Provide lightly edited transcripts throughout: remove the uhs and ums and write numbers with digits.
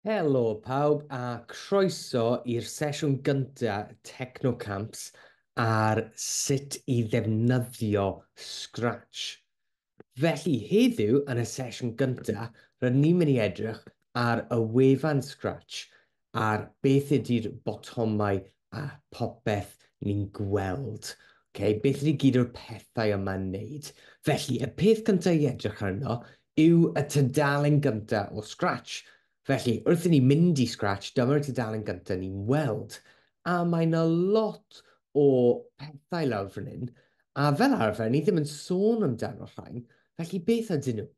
Helo pawb a croeso i'r sesiwn gyntaf Technocamps ar sut i ddefnyddio Scratch. Felly heddiw yn y sesiwn gyntaf, rydyn ni'n mynd i edrych ar y wefan Scratch ar beth ydy'r botymau a popeth ni'n gweld. Okay, beth ydy gyd o'r pethau yma'n wneud? Felly, y peth cyntaf i edrych arno yw y tudalen gyntaf o Scratch. Felly, wrth i ni mynd i Scratch, dyma'r tudalen gyntaf ni'n weld. A mae yna lot o pethau lawr fan hyn, a fel arfer, ni ddim yn sôn amdano rhain, felly beth ydyn nhw?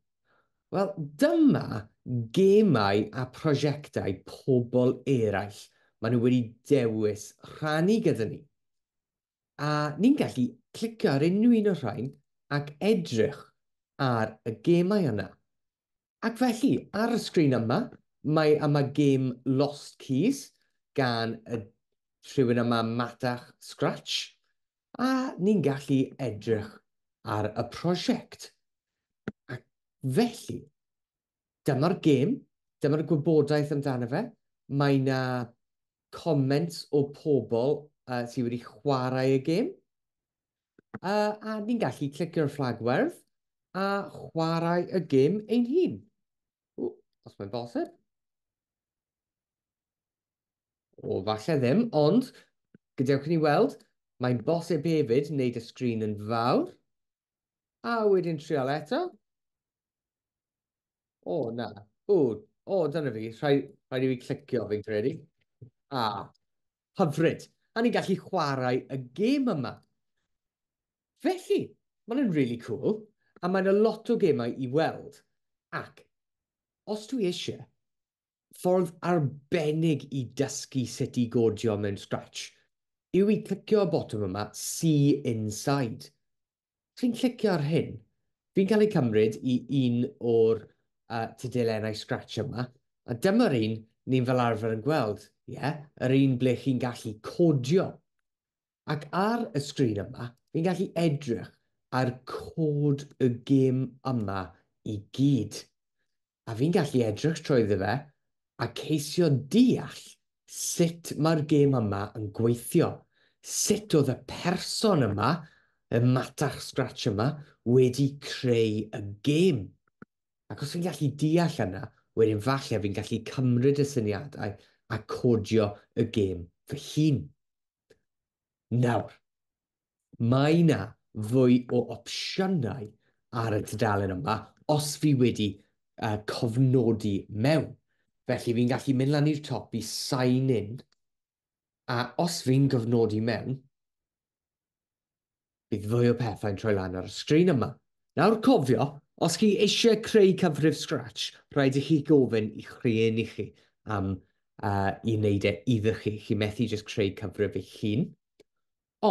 Wel, dyma gemau a prosiectau pobl eraill maen nhw wedi dewis rhannu gyda ni. A ni'n gallu clicio ar unrhyw un o'r rhain ac edrych ar y gemau yna. Ac felly, ar y sgrin yma, mae yma gêm Lost Keys gan y rhywun yma Matach Scratch, a ni'n gallu edrych ar y prosiect. Ac felly, dyma'r gêm, dyma'r gwybodaeth amdano fe. Mae yna comments o pobl sydd wedi chwarae y gêm. A ni'n gallu clicio'r fflag werdd a chwarae y gêm ein hun. Ww, os mae'n bosib. O, falle ddim, ond gadewch i ni weld, mae'n bosib hefyd wneud y sgrin yn fawr. A wedyn trial eto. O, na. O, o, dyna fi. Rhaid i fi clicio, fi'n credu. A, hyfryd. A ni'n gallu chwarae y gêm yma. Felly, mae'n really cool. A mae'n a lot o gemau i weld. Ac, os dwi eisiau, ffordd arbennig i dysgu sut i godio mewn Scratch yw i clicio y botwm yma, See Inside. Os fi'n clicio ar hyn, fi'n cael ei cymryd i un o'r tudalennau Scratch yma, a dyma'r un ni'n fel arfer yn gweld, ie, yeah? Yr un ble chi'n gallu codio. Ac ar y sgrin yma, fi'n gallu edrych ar cod y gêm yma i gyd. A fi'n gallu edrych trwyddo fe a ceisio deall sut mae'r gêm yma yn gweithio. Sut oedd y person yma, y Matach Scratch yma, wedi creu y gêm. Ac os fi'n gallu deall yna, wedyn falle fi'n gallu cymryd y syniadau a codio y gêm fy hun. Nawr, mae yna fwy o opsiynau ar y tudalen yma os fi wedi cofnodi mewn. Felly fi'n gallu mynd lan i'r top i sign in, a os fi'n gofnodi mewn, bydd fwy o pethau'n troi lan ar y sgrin yma. Nawr cofio, os chi eisiau creu cyfrif Scratch, rhaid i chi gofyn i'ch rhieni chi am i wneud e iddo chi. Chi methu jyst creu cyfrif eich hun.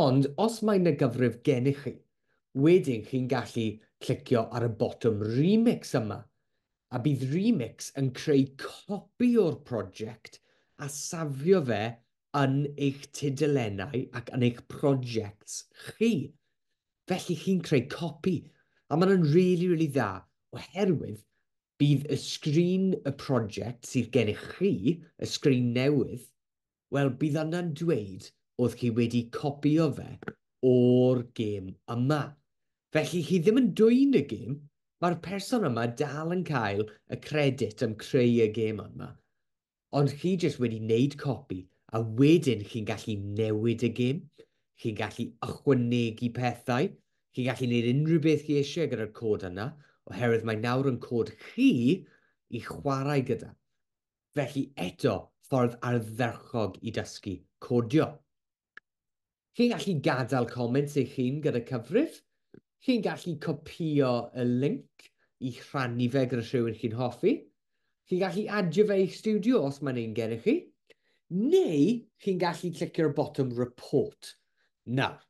Ond os mae yna gyfrif gennych chi, wedyn chi'n gallu clicio ar y botwm Remix yma. A bydd Remix yn creu copi o'r prosiect a safio fe yn eich tudalennau ac yn eich projects chi. Felly chi'n creu copi. A mae'n really, really dda, oherwydd bydd y sgrin y prosiect sydd gennych chi, y sgrin newydd, wel, bydd yna'n dweud oedd chi wedi copio fe o'r gêm yma. Felly chi ddim yn dwyn y gêm, mae'r person yma dal yn cael y credit am creu y gêm yma. Ond chi jyst wedi wneud copi, a wedyn chi'n gallu newid y gêm, chi'n gallu ychwanegu pethau, chi'n gallu gwneud unrhyw beth chi eisiau gyda'r cod yna, oherwydd mae nawr yn cod chi i chwarae gyda. Felly eto, ffordd ardderchog i dysgu codio. Chi'n gallu gadael comments eich hun gyda cyfrif. Chi'n gallu copio y link i rhannu fe gyda rhywun chi'n hoffi. Chi'n gallu adio fe i'ch studio os mae'n un gennych chi. Neu chi'n gallu clicio'r botwm report. Nawr,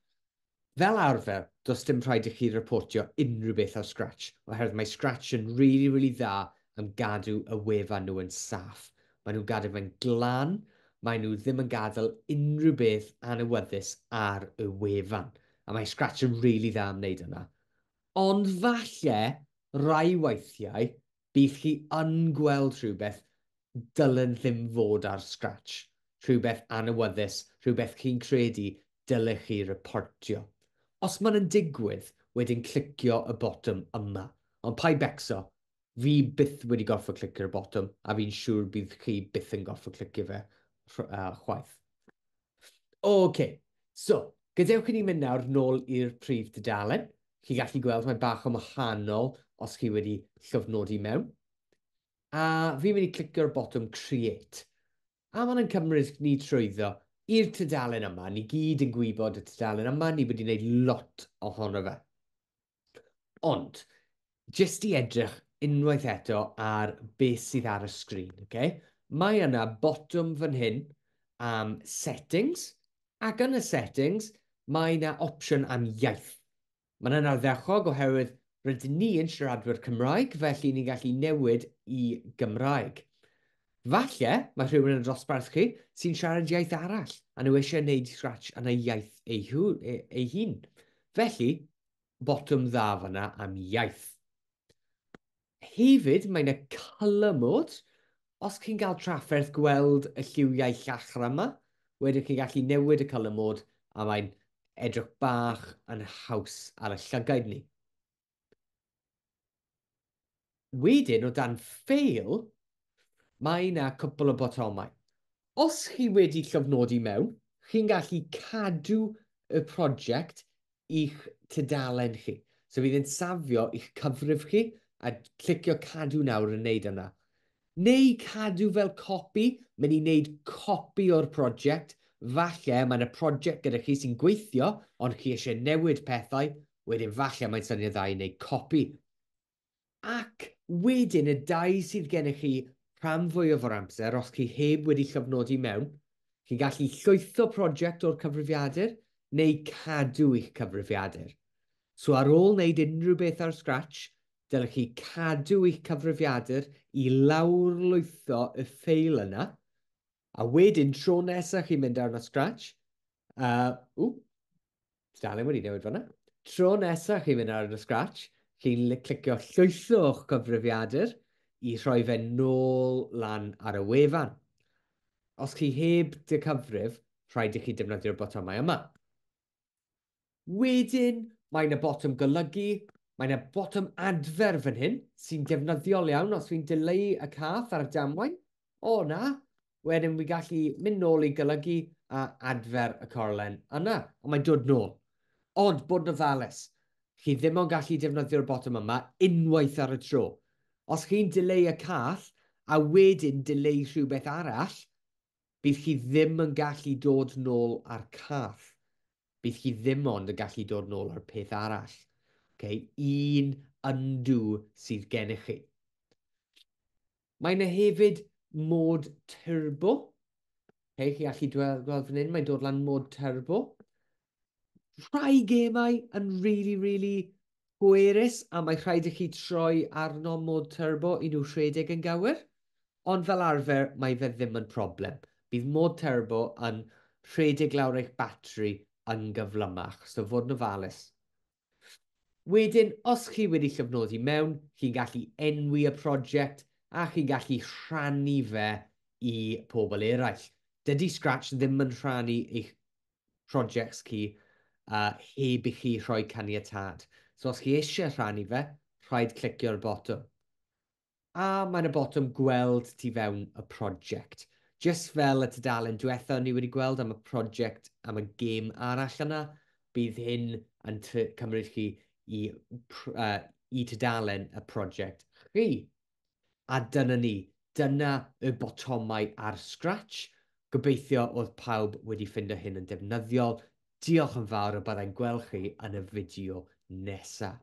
fel arfer, does dim rhaid i chi reportio unrhyw beth ar Scratch, oherwydd mae Scratch yn really, really dda am gadw y wefan nhw yn saff. Maen nhw'n gadw fe'n glan, maen nhw ddim yn gadael unrhyw beth annywyddus ar y wefan. A mae Scratch yn really dda am wneud yna. Ond falle, rai weithiau, bydd chi yn gweld rhywbeth. dylen ddim fod ar Scratch. Rhywbeth annywyddus, rhywbeth chi'n credu dylech chi reportio. Os maen yn digwydd, wedyn clicio y botwm yma. Ond paid becso, fi byth wedi gorfod clicio'r botwm, a fi'n siŵr bydd chi byth yn gorfod clicio fe chwaith. OK, so, gadewch i ni mynd nawr nôl i'r prif dudalen. Chi gallu gweld mae bach yn wahanol os chi wedi llofnodi mewn. A fi'n mynd i clicio'r botwm Create. A mae'n cymryd ni trwyddo i'r tudalen yma. Ni gyd yn gwybod y tudalen yma, ni wedi gwneud lot ohono fe. Ond, jyst i edrych unwaith eto ar beth sydd ar y sgrin. Okay? Mae yna botwm fan hyn am settings, ac yn y settings mae yna opsiwn am iaith. Mae'n yna ardderchog oherwydd rydyn ni yn siaradwyr Cymraeg, felly ni'n gallu newid i Gymraeg. Falle mae rhywun yn y dosbarth chi sy'n siarad iaith arall, a nhw eisiau gwneud Scratch yn ei iaith ei hun. Felly, botwm dda fyna am iaith. Hefyd, mae yna colour mode. Os chi'n cael trafferth gweld y lliwiau llachar yma, wedyn chi'n gallu newid y colour mode a mae'n edrych bach yn haws ar y llygaid ni. Wedyn, o dan File, mae yna cwpl o botymau. Os chi wedi llofnodi mewn, chi'n gallu cadw y prosiect i'ch tudalen chi. So fydd yn safio i'ch cyfrif chi a clicio cadw nawr yn neud yna. Neu cadw fel copi, mynd i wneud copi o'r prosiect. Falle mae yna prosiect gyda chi sy'n gweithio, ond chi eisiau newid pethau, wedyn falle mae'n syniad dda i wneud copi. Ac wedyn y dau sydd gennych chi rhan fwyaf o'r amser, os chi heb wedi llofnodi mewn, chi'n gallu llwytho prosiect o'r cyfrifiadur neu cadw eich cyfrifiadur. So ar ôl wneud unrhyw beth ar Scratch, dylech chi cadw eich cyfrifiadur i lawrlwytho y ffeil yna, a wedyn tro nesaf chi'n mynd arno Scratch, dalen wedi newid fan'na. Tro nesaf chi'n mynd arno Scratch, chi'n clicio llwytho o'ch cyfrifiadur i rhoi fe nôl lan ar y wefan. Os chi heb dy cyfrif, rhaid i chi defnyddio'r botymau yma. Wedyn, mae yna botwm golygu, mae yna botwm adfer fan hyn, sy'n defnyddiol iawn os fi'n dileu y cath ar y damwain. O na, wedyn fi gallu mynd nôl i golygu a adfer y corlen yna, ond mae'n dod nôl. Ond, bod yn ofalus, chi ddim ond gallu defnyddio'r botwm yma unwaith ar y tro. Os chi'n dileu y cath a wedyn dileu rhywbeth arall, bydd chi ddim yn gallu dod nôl ar cath. Bydd chi ddim ond yn gallu dod nôl ar peth arall. Okay? Un undo sydd gennych chi. Mae yna hefyd mod turbo. Okay, chi allu gweld fan hyn, mae'n dod lan mod turbo. Rhai gemau yn really, really pwerus, a mae rhaid i chi troi arno mod turbo i nhw rhedeg yn gywir. Ond fel arfer, mae fe ddim yn problem. Bydd mod turbo yn rhedeg lawr eich batri yn gyflymach, so fod yn ofalus. Wedyn, os chi wedi llofnodi mewn, chi'n gallu enwi y prosiect a chi'n gallu rhannu fe i pobl eraill. Dydy Scratch ddim yn rhannu eich prosiects chi heb i chi rhoi caniatâd. So os chi eisiau rhannu fe, rhaid clicio'r botwm. A mae'n y botwm gweld tu fewn y prosiect. Just fel y tudalen diwetha ni wedi gweld am y prosiect, am y gêm arall yna, bydd hyn yn cymryd chi i tudalen y prosiect chi. A dyna ni, dyna y botymau ar Scratch. Gobeithio oedd pawb wedi ffindo hyn yn defnyddiol. Diolch yn fawr a byddai'n gweld chi yn y fideo nesaf.